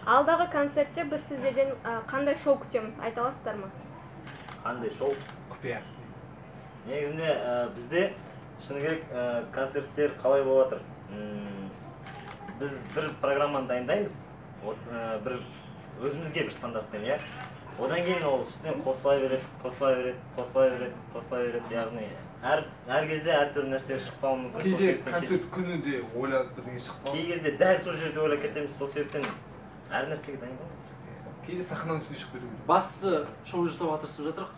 Алдагы концертте биз сиздерден кандай шоу күтөмүз, айта аласыздармы? Кандай шоу? Купуя. Негизинде бизде шыны керек концерттер калай болуп атыр? Биз бир программаны дайындайбыз. Бир өзүбүзгө бир стандарттен, я. Одан кийин ол үстүнөн косулай берет. Ягни ар кезде ар түрдүү нерселер шыкпауы мүмкүн. Кейде концерт күнүндө ойлоп бирдеңе шыкпайбы? Кей кезде дәл сол жерде ойлоп кетебиз, сол себептен ар нерсеге дайындалабыз. Кейде сахнанын үстүнө чыгып кетип. Басты шоу жасап атырсыз жатырык.